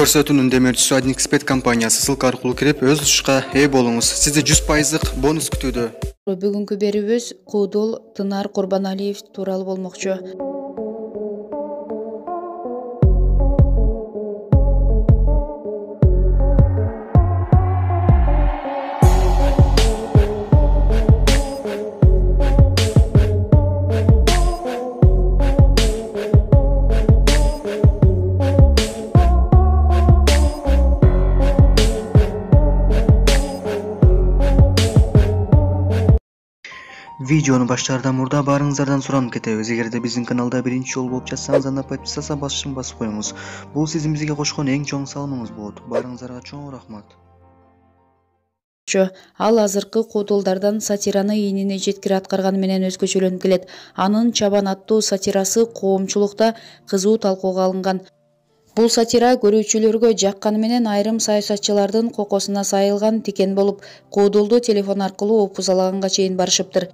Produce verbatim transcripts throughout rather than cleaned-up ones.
Көрсөтүүнүн демөөрчүсү Adnexpert компаниясы ссылка аркылуу кирип өз утушка ээ болуңуз. Сизди жүз пайыздык бонус күтүүдө. Бүгүнкү берүүбүз Куудул Тынар Курбаналиев тууралуу болмокчу. Видеону баштаардан мурда баарыңыздардан суранып кетебиз. Эгерде биздин каналда биринчи жолу болуп жатсаңыз, анда подписаться басышын басып коюңуз. Бул сиздин бизге кошкон эң чоң салымыңыз болот. Баарыңыздарга чоң рахмат. Ал азыркы куудулдардан сатираны ийнине жеткире аткарганы менен өзгөчөлөнүп келет. Анын Чабан аттуу сатирасы коомчулукта кызуу талкууга алынган. Бул сатира көрүүчүлөргө жакканы менен айрым саясатчылардын кокосуна сайылган тикен болуп, куудулду телефон аркылуу опузалаганга чейин барышыптыр.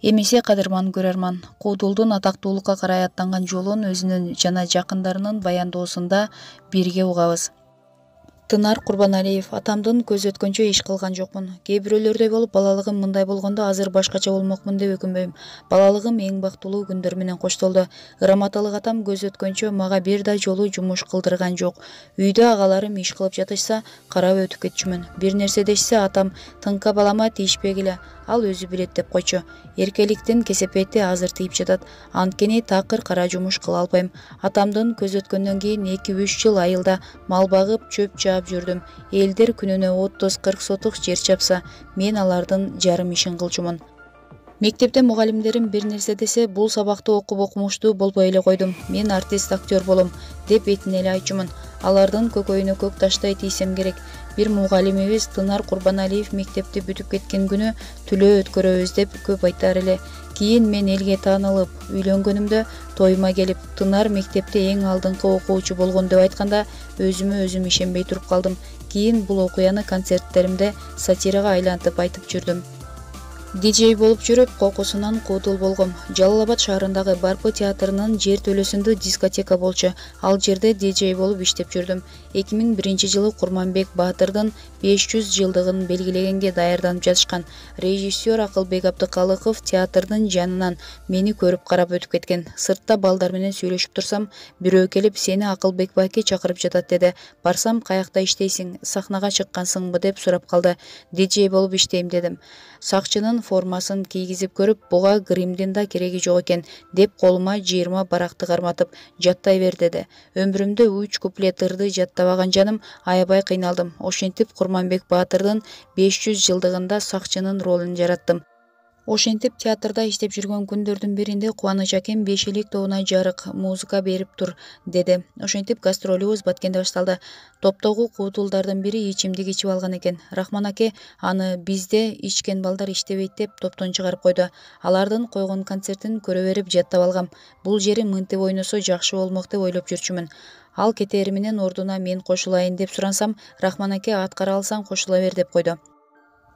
Эмесе кадырман көрөрман, куудулдун атактуулукка карай аттанган жолун өзүнүн жана жакындарынын баяндоосунда бирге угабыз. Тынар Курбаналиев: атамдын көз өткөнчө иш кылган жокмун. Кээ бирөөлөрдөй болуп, балалыгым мындай болгондо азыр башкача болмокмун деп өкүнбөйм. Балалыгым эң бактылуу күндөр менен коштолду. Ыраматалык атам көз өткөнчө мага бир да жолу жумуш кылдырган жок. Үйдө агаларым иш кылып жатышса, карап өтүп кетчүмүн. Бир нерсе дешсе, атам: тыңка балама тийишпегиле, ал өзү билет деп койчу. Эркеликтин кесепети азыр тийип жатат. Анткени такыр кара жумуш кыла албайм. Атамдын көз өткөндөн кийин эки үч жыл айылда мал багып, чөп жаап жүрдүм. Элдер күнүнө отуз кырк сотук жер чапса, мен алардын жарым ишин кылчумун. Мектепте мугалимдерим бир нерсе десе, бул сабакты окуп окумуштуу болбой эле койдум. Мен артист, актер болом деп этине эле айтчумун. Алардын көкөйүнө көк таштай тийсем керек. Бир мугалимибиз Тынар Курбаналиев мектепти бүтүп кеткен күнү түлөө өткөрөбүз деп көп айтар эле. Кийин мен элге таанылып, үйлөнгөнүмдө тоюма келип, Тынар мектепте эң алдыңкы окуучу болгон деп айтканда, өзүмө өзүм ишенбей туруп калдым. Кийин бул окуяны концерттеримде сатирага айлантып айтып жүрдүм. Диджей болуп жүрүп, кокусунан куудул болгом. Жалал Абад шаарындагы Барпы театрынын жер төлөсүндө дискотека болчу. Ал жерде диджей болуп иштеп жүрдүм. эки миң биринчи жылы Курманбек Баатырдын беш жүз жылдыгын белгилегенге даярданып жатышкан. Режиссер Акылбек Абдыкалыков театрдын жанынан мени көрүп карап өтүп кеткен. Сыртта балдар менен сүйлөшүп турсам, бирөө келип: сени Акылбек байке чакырып жатат деди. Барсам: каякта иштейсиң, сахнага чыккансыңбы деп сурап калды. Диджей болуп иштейм дедим. Сакчынын формасын кийгизип көрүп, буга гримдин да кереги жок экен деп колума жыйырма баракты карматып, жаттай бер деди. Өмүрүмдө үч куплет ырды жаттабаган жаным, аябай кыйналдым. Ошентип Курманбек Баатырдын беш жүз жылдыгында сакчынын ролун жараттым. Ошентип театрда иштеп жүргөн күндөрдүн биринде Кубаныч акем беш элек тобуна жарык музыка берип тур деди. Ошентип гастролубуз Баткенде башталды. Топтогу куудулдардын бири ичимдик ичип алган экен. Рахман аке аны бизде ичкен балдар иштебейт деп топтон чыгарып койду. Алардын койгон концертин көрө берип жаттап алгам. Бул жери мынтип ойносо жакшы болмок деп ойлоп жүрчүмүн. Ал кетери менен ордуна мен кошулайын деп сурансам, Рахман аке аткара алсаң кошула бер деп койду.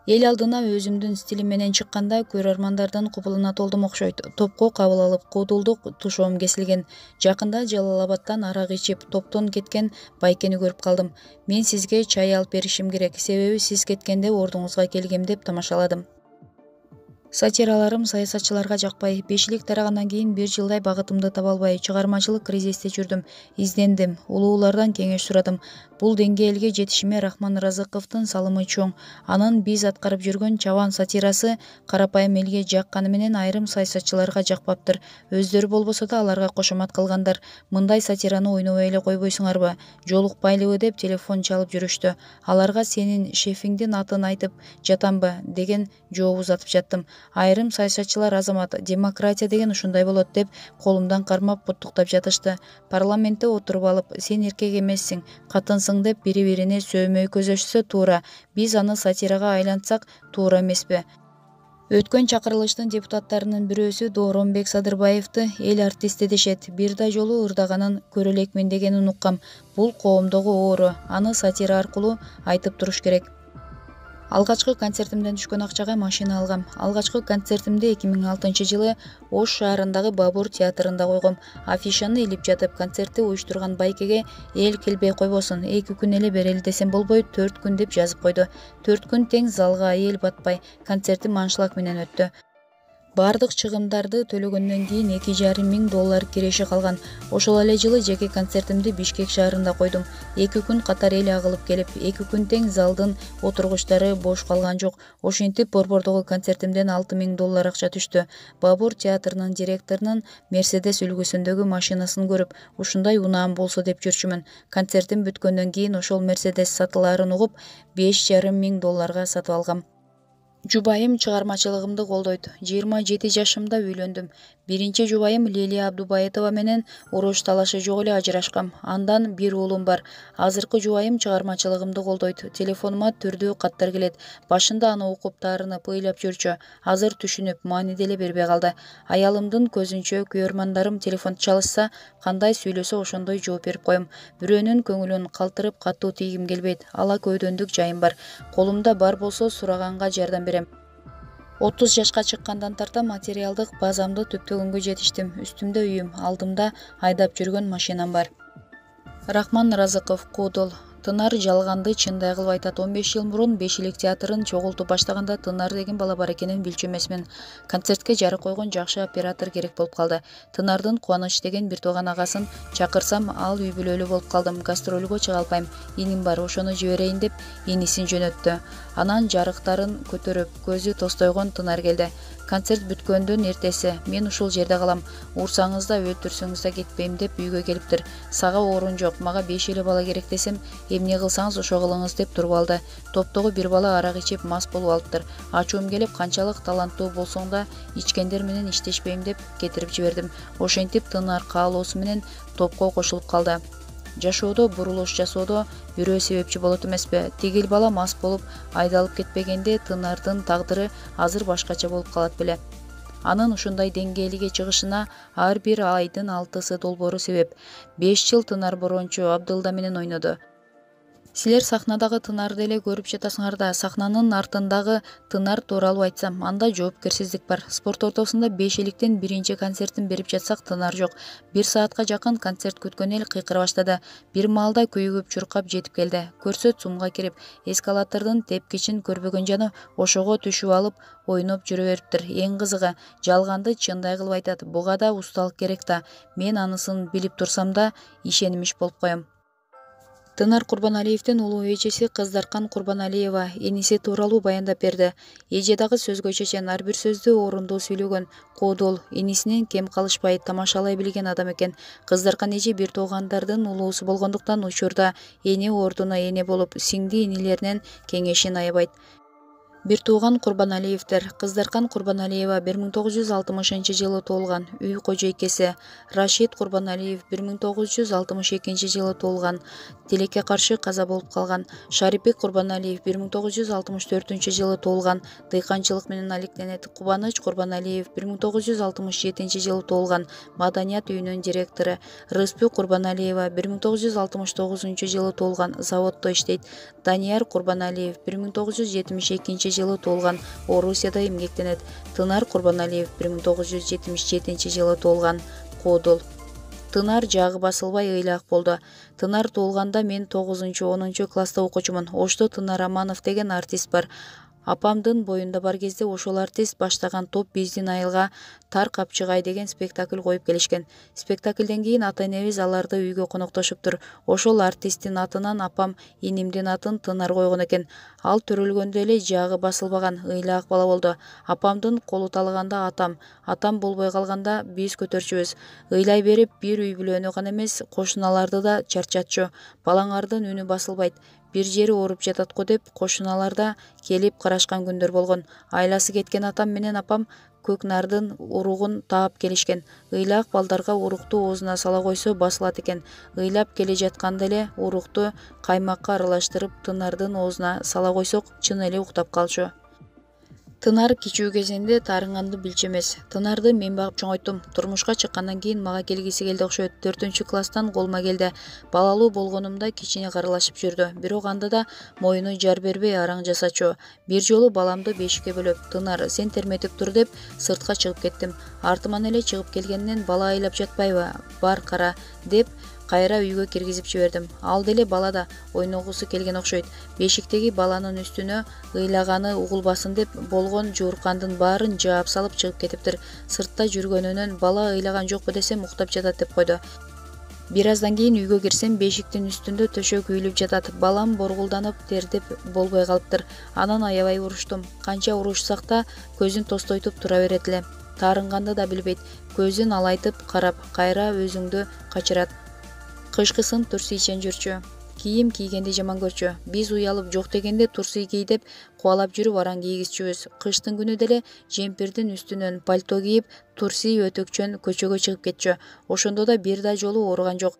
Эл алдына өзүмдүн стилим менен чыкканда көрөрмандардын кубулуна толдум окшойт. Топко кабыл алып, куудулдук тушоом кесилген. Жакында Жалал Абадтан арак ичип, топтон кеткен байкени көрүп калдым. Мен сизге чай алып беришим керек, себеби сиз кеткенде ордуңузга келгем деп тамашаладым. Сатираларым саясатчыларга жакпай, бешилик тарагандан кийин бир жылдай багытымды таба албай, чыгармачылык кризисте жүрдүм. Издендим, улуулардан кеңеш сурадым. Бул деңгээлге жетишиме Рахман Разыковдун салымы чоң. Анын биз аткарып жүргөн Чабан сатирасы карапайым элге жакканы менен айрым саясатчыларга жакпаптыр. Өздөрү болбосо да аларга кошомат кылгандар. Мындай сатираны ойнобой эле койбойсуңарбы? Жолукпайлыбы деп телефон чалып жүрүштү. Аларга сенин шефиңдин атын айтып жатамбы деген жооп узатып жаттым. Айрым саясатчылар Азамат, демократия деген ушундай болот деп колумдан кармап куттуктап жатышты. Парламентте отуруп алып, сен эркек эмессиң, катынсың деп бири-бирине сөөмөй көзөшсө туура. Биз аны сатирага айлантсак туура эмеспи? Өткөн чакырылыштын депутаттарынын бирөөсү Дооронбек Садырбаевди эл артисти дешет. Бир да жолу ырдаганын көрө элекмин дегенин уккам. Бул коомдогу оору. Аны сатира аркылуу айтып туруш керек. Алгачкы концертимден түшкөн акчага машина алгам. Алгачкы концертимди эки миң алтынчы жылы Ош шаарындагы Бабур театрында койгом. Афишаны илип жатып, концертти уюштурган байкеге эл келбей койбосун, эки күн эле берели десем болбой, төрт күн деп жазып койду. төрт күн тең залга эл батпай, концертим аншлаг менен өттү. Бардык чыгымдарды төлөгөндөн кийин эки жарым миң доллар киреши калган. Ошол эле жылы жеке концертимди Бишкек шаарында койдум. эки күн катар эл агылып келип, эки күн тең залдын отургучтары бош калган жок. Ошентип Борбордогу концертимден алты миң доллар акча түштү. Бабур театрынын директорунун Мерседес үлгүсүндөгү машинасын көрүп, ушундай унаам болсо деп жүрчүмүн. Концертим бүткөндөн кийин ошол Мерседес сатылаарын угуп, беш жарым миң долларга сатып алгам. Жубайым чыгармачылыгымды колдойт. жыйырма жети жашымда үйлөндүм. Биринчи жубайым Лилия Абдубаетова менен уруш талашы жок эле ажырашкам. Андан бир уулум бар. Азыркы жубайым чыгармачылыгымды колдойт. Телефонума түрдүү каттар келет. Башында аны окуп таарынып ыйлап жүрчү. Азыр түшүнүп, маани деле бербей калды. Аялымдын көзүнчө күйөрмандарым телефон чалышса, кандай сүйлөсө ошондой жооп берип коем. Бирөөнүн көңүлүн калтырып катуу тийгим келбейт. Ала көйдөндүк жайым бар. Колумда бар болсо сураганга жардам берем. отуз жашка чыккандан тарта материалдык базамды түптөгөнгө жетиштим. Үстүмдө үйүм, алдымда айдап жүргөн машинам бар. Рахман Разыков, Кодол. Тынар жалганды чындай кылып айтат. он беш жыл мурун Бешилик театрын чогултуп баштаганда Тынар деген бала бар экенин билчү эмесмин. Концертке жарык койгон жакшы оператор керек болуп калды. Тынардын Кубаныч деген бир тууган агасын чакырсам, ал үй бүлөлүү болуп калдым. Гастролго чыга албайм. Иним бар, ошону жиберейин деп инисин жөнөттү. Анан жарыктарын көтөрүп, көзү тостойгон Тынар келди. Концерт бүткөндөн эртеси мен ушул жерде калам. Урсаңыз да, өлтүрсөңүз да кетпейм деп үйгө келиптир. Сага орун жок, мага беш эле бала керек десем, эмне кылсаңыз ошо кылыңыз деп туруп алды. Топтогу бир бала арак ичип мас болуп алыптыр. Ачуум келип, канчалык таланттуу болсоң да ичкендер менен иштешпейм деп кетирип жибердим. Ошентип Тынар каалоосу менен топко кошулуп калды. Жашоодо бурулуш жасоодо бирөө себепчи болот эмеспи? Тигил бала мас болуп айдалып кетпегенде Тынардын тагдыры азыр башкача болуп калат беле. Анын ушундай деңгээлге чыгышына ар бир айдын алтысы долбоору себеп. беш жыл Тынар Борончу Абдылда менен ойноду. Силер сахнадагы Тынарды эле көрүп жатасыңар да, сахнанын артындагы Тынар тууралуу айтсам, анда жоопкерсиздик бар. Спорт ортосунда Бешиликтен биринчи концертин берип жатсак, Тынар жок. Бир саатка жакын концерт күткөн эл кыйкыра баштады. Бир маалда күйүгүп чуркап жетип келди. Көрсөт сумга кирип, эскалатордун тепкичин көрбөгөн жана ошого түшүп алып ойноп жүрө бериптир. Эң кызыгы, жалганды чындай кылып айтат. Буга да усталык керек да. Мен анысын билип турсам да, ишенимиш болуп коем. Тынар Курбаналиевдин улуу эжеси Кыздаркан Курбаналиева эниси тууралуу баяндап берди. Эже дагы сөзгө чечен, ар бир сөздү орундуу сүйлөгөн. Кодол энисинен кем калышпай тамашалай билген адам экен. Кыздаркан эже бир туугандардын улуусу болгондуктан учурда эне ордуна эне болуп, сиңди инилеринен кеңешин аябайт. Бир тууган Курбаналиевдер. Кыздаркан Курбаналиева бир миң тогуз жүз алтымышынчы жылы туулган, үй кожойкеси. Рашид Курбаналиев бир миң тогуз жүз алтымыш экинчи жылы туулган, тилекке каршы каза болуп калган. Шарипбек Курбаналиев бир миң тогуз жүз алтымыш төртүнчү жылы туулган, дыйканчылык менен алектенет. Кубаныч Курбаналиев бир миң тогуз жүз алтымыш жетинчи жылы туулган, маданият үйүнүн директору. Рыспү Курбаналиева бир миң тогуз жүз алтымыш тогузунчу жылы туулган, заводдо иштейт. Данияр Курбаналиев бир миң тогуз жүз жетимиш экинчи жылы туулган, Орусияда эмгектенет. Тынар Курбаналиев бир миң тогуз жүз жетимиш жетинчи жылы туулган, Кодол. Тынар жагы басылбай ыйлак болду. Тынар туулганда мен тогузунчу онунчу класста окуучумун. Ошто Тынар Аманов деген артист бар. Апамдын боюнда бар кезде ошол артист баштаган топ биздин айылга Тар капчыгай деген спектакль коюп келишкен. Спектаклден кийин ата-энебиз аларды үйгө коноктошуптур. Ошол артисттин атынан апам инимдин атын Тынар койгон экен. Ал төрөлгөндө эле жагы басылбаган, ыйлаак бала болду. Апамдын колу талганда атам, атам болбой калганда биз көтөрчүбүз. Ыйлай берип бир үй бүлөнү гана эмес, кошуналарды да чарчатчу. Балаңардын үнү басылбайт. Бир жери ооруп жатат го деп кошуналар да келип карашкан күндөр болгон. Айласы кеткен атам менен апам көк нардын уругун таап келишкен. Ыйлаак балдарга урукту оозуна сала койсо басылат экен. Ыйлап келе жатканда эле урукту каймакка аралаштырып Тынардын оозуна сала койсок чын эле уктап калчу. Тынар кичүү кезинде таарынганды билчү эмес. Тынарды мен багып чоңойттум. Турмушка чыккандан кийин мага келгиси келди окшойт. төртүнчү класстан колума келди. Балалуу болгонумда кичине каралашып жүрдү. Бирок анда да моюну жар бербей араң жасачу. Бир жолу баламды бешикке бөлөп, "Тынар, сен терметип тур" деп сыртка чыгып кеттим. Артыман эле чыгып келгенден "Бала айлап жатпайбы? Бар кара" деп кайра үйгө киргизип жибердим. Ал деле бала да ойногусу келген окшойт. Бешиктеги баланын үстүнө ыйлаганы угулбасын деп болгон жууркандын баарын жаап салып чыгып кетиптир. Сыртта жүргөнүнөн "Бала ыйлаган жокпу" десем уктап жатат деп койду. Бир аздан кийин үйгө кирсем, бешиктин үстүндө төшөк үйүлүп жатат. Балам боргулданып тердеп болбой калыптыр. Анан аябай уруштум. Канча урушсак да көзүн тостойтуп тура берет эле. Таарынганды да билбейт. Көзүн алайтып карап, кайра өзүңдү качырат. Кышкысын турсийчен жүрчү. Кийим кийгенди жаман көрчү. Биз уялып жок дегенде турсий кий деп кубалап жүрүп араң кийгизчүбүз. Кыштын күнү деле жемпирдин үстүнөн пальто кийип, турсий өтөкчөн көчөгө чыгып кетчү. Ошондо да бир да жолу ооруган жок.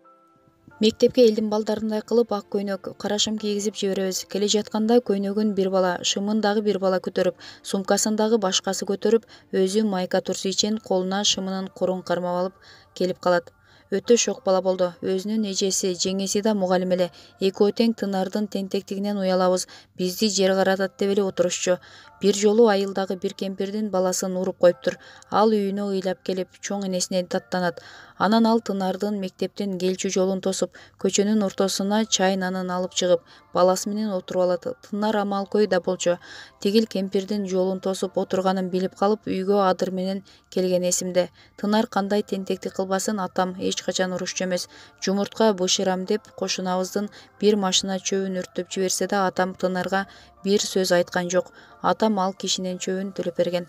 Мектепке элдин балдарындай кылып ак көйнөк, карашым кийгизип жиберебиз. Келе жатканда көйнөгүн бир бала, шымын дагы бир бала көтөрүп, сумкасын дагы башкасы көтөрүп, өзү майка турсийчен колуна шымынын корун кармап алып келип калат. Өтө шок бала болду. Өзүнүн эжеси, жеңеси да мугалим эле. Экөө тең Тынардын тентектигинен уялабыз. Бизди жер каратат деп эле отурушчу. Бир жолу айылдагы бир кемпирдин баласын уруп коюптур. Ал үйүнө ыйлап келип, чоң энесине даттанат. Анан ал Тынардын мектептен келчү жолун тосуп, көчөнүн ортосуна чай нанын алып чыгып, баласы менен отуруп алат. Тынар амалкөй да болчу. Тигил кемпирдин жолун тосуп отурганын билип калып, үйгө адыр менен келген эсимде. Тынар кандай тентектик кылбасын атам эч качан урушчу эмес. Жумуртка бышырам деп кошунабыздын бир машина чөбүн өрттөп жиберсе да атам Тынарга бир сөз айткан жок. Атам ал кишинин чөбүн төлөп берген.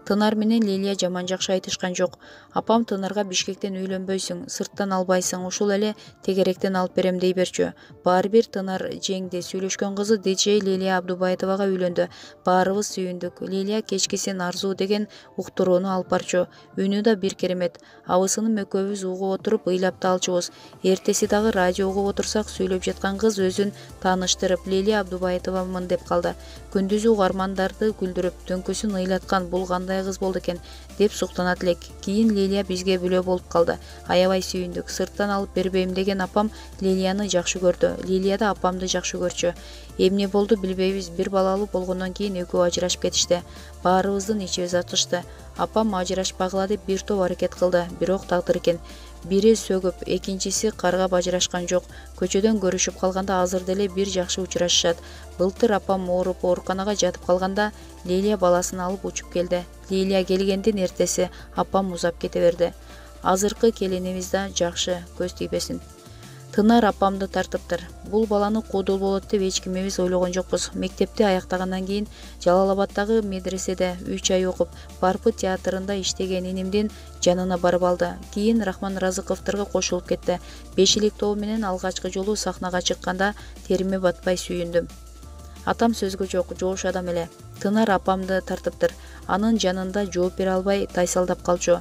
Тынар менен Лилия жаман жакшы айтышкан жок. Апам Тынарга Бишкектен үйлөнбөйсүң, сырттан албайсың, ушул эле тегеректен алып берем дей берчү. Баары бир Тынар жеңди. Сүйлөшкөн кызы диджей Лилия Абдубаевага үйлөндү. Баарыбыз сүйүндүк. Лилия кечкисин Арзуу деген уктурууну алып барчу. Үнү да бир керемет. Абысыным экөөбүз угуп отуруп ыйлап да алчубуз. Эртеси дагы радио угуп отурсак, сүйлөп жаткан кыз өзүн тааныштырып, Лилия Абдубаевамын деп калды. Күндүзү угармандарды күлдүрүп, түнкүсүн ыйлаткан бул кандай кыз болду экен деп суктанат элек. Кийин Лилия бизге бүлө болуп калды. Аябай сүйүндүк. Сырттан алып бербейм деген апам Лилияны жакшы көрдү. Лилия да апамды жакшы көрчү. Эмне болду билбейбиз. Бир балалуу болгондон кийин экөө ажырашып кетишти. Баарыбыздын ичибиз ачышты. Апам ажырашпагыла деп бир топ аракет кылды, бирок тагдыр экен. Бири сөгүп, экинчиси каргап ажырашкан жок. Көчөдөн көрүшүп калганда азыр деле бир жакшы учурашышат. Былтыр апам ооруп ооруканага жатып калганда Лилия баласын алып учуп келди. Лилия келгендин эртеси апам узап кете берди. Азыркы келинибиз да жакшы, көз тийбесин. Тынар апамды тартыптыр. Бул баланы куудул болот деп эч кимибиз ойлогон жокпуз. Мектепти аяктагандан кийин Жалал Абаддагы медреседе үч ай окуп, Барпы театрында иштеген инимдин жанына барып алды. Кийин Рахман Разыковдорго кошулуп кетти. Бешилик тобу менен алгачкы жолу сахнага чыкканда териме батпай сүйүндүм. Атам сөзгө жок, жоош адам эле. Тынар апамды тартыптыр. Анын жанында жооп бере албай тайсалдап калчу.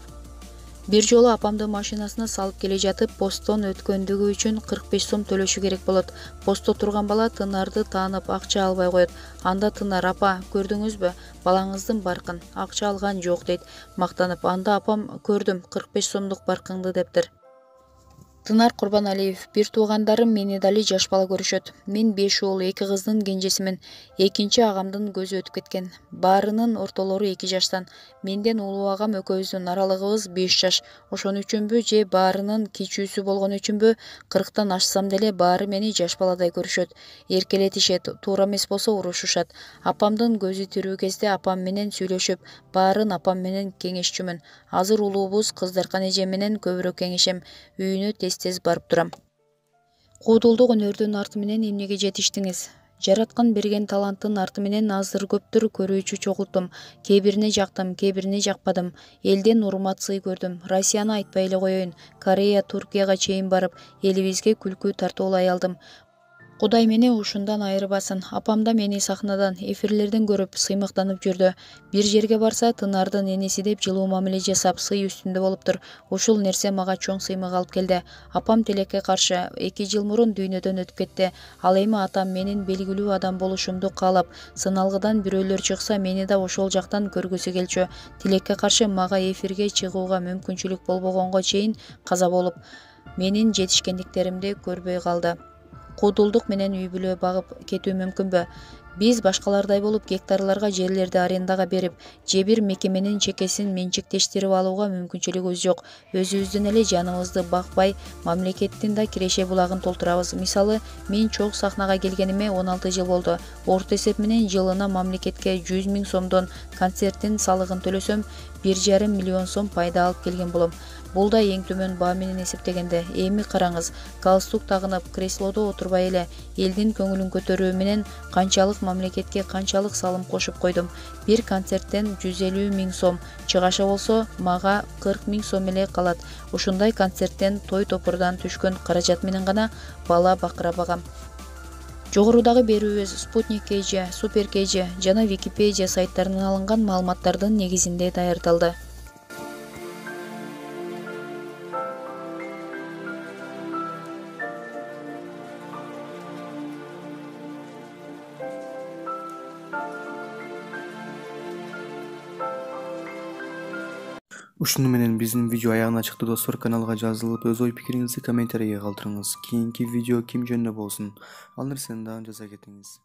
Бир жолу апамды машинасына салып келе жатып, посттон өткөндүгү үчүн кырк беш сом төлөшү керек болот. Постто турган бала Тынарды таанып акча албай коет. Анда Тынар: "Апа, көрдүңүзбү? Балаңыздын баркын. Акча алган жок" дейт мактанып. Анда апам: "Көрдүм, кырк беш сомдук баркыңды" дептир. Тынар Курбаналиев: бир туугандарым мени дали жаш бала көрүшөт. Мен беш уулу, эки кыздын кенжесимин. Экинчи агамдын көзү өтүп кеткен. Баарынын ортолору эки жаштан. Менден улуу агам экөөбүздүн аралыгыбыз беш жаш. Ошон үчүнбү же баарынын кичүүсү болгон үчүнбү, кырктан ашсам деле баары мени жаш баладай көрүшөт. Эркелетишет, туура эмес болсо урушушат. Апамдын көзү тирүү кезде апам менен сүйлөшүп, баарын апам менен кеңешчүмүн. Азыр улуубуз Кыздаркан эжем менен көбүрөөк кеңешем. Үйүнө тез-тез барып турам. Куудулдук өнөрдүн арты менен эмнеге жетиштиңиз? Жараткан берген таланттын арты менен аздыр көптүр көрүүчү чогулттум. Кээ бирине жактым, кээ бирине жакпадым. Элден урмат сый көрдүм. Россияны айтпай эле коеюн. Корея, Туркияга чейин барып, элибизге күлкү тартуулай алдым. Кудай мени ушундан айырбасын. Апам да мени сахнадан, эфирлерден көрүп сыймыктанып жүрдү. Бир жерге барса, Тынардын энеси деп жылуу мамиле жасап, сый үстүндө болуптур. Ушул нерсе мага чоң сыймык алып келди. Апам тилекке каршы эки жыл мурун дүйнөдөн өтүп кетти. Ал эми атам менин белгилүү адам болушумду каалап, сыналгыдан бирөөлөр чыкса, мени да ошол жактан көргүсү келчү. Тилекке каршы мага эфирге чыгууга мүмкүнчүлүк болбогонго чейин каза болуп, менин жетишкендиктеримди көрбөй калды. Куудулдук менен үй бүлө багып кетүү мүмкүнбү? Биз башкалардай болуп гектарларга жерлерди арендага берип, же бир мекеменин чекесин менчиктештирип алууга мүмкүнчүлүгүбүз жок. Өзүбүздүн эле жаныбызды бакпай, мамлекеттин да киреше булагын толтурабыз. Мисалы, мен чогуу сахнага келгениме он алты жыл болду. Орто эсеп менен жылына мамлекетке жүз миң сомдон концерттин салыгын төлөсөм, бир жарым миллион сом пайда алып келген болом. Бул да эң төмөн баа менен эсептегенде. Эми караңыз, галстук тагынып, креслодо отурбай эле элдин көңүлүн көтөрүү менен канчалык мамлекетке канчалык салым кошуп койдум. Бир концерттен жүз элүү миң сом, чыгаша болсо мага кырк миң сом эле калат. Ушундай концерттен той топурдан түшкөн каражат менен гана бала бакыра багам. Жогорудагы берүүбүз Спутник кей джи, Супер кей джи жана Википедия сайттарынан алынган маалыматтардын негизинде даярдалды. Ушуну менен биздин видео аягына чыкты достор. Каналга жазылып, өз ой пикириңизди комментарийге калтырыңыз. Кийинки видео ким жөнүндө болсун, ал нерсени дагы жаза кетиңиз.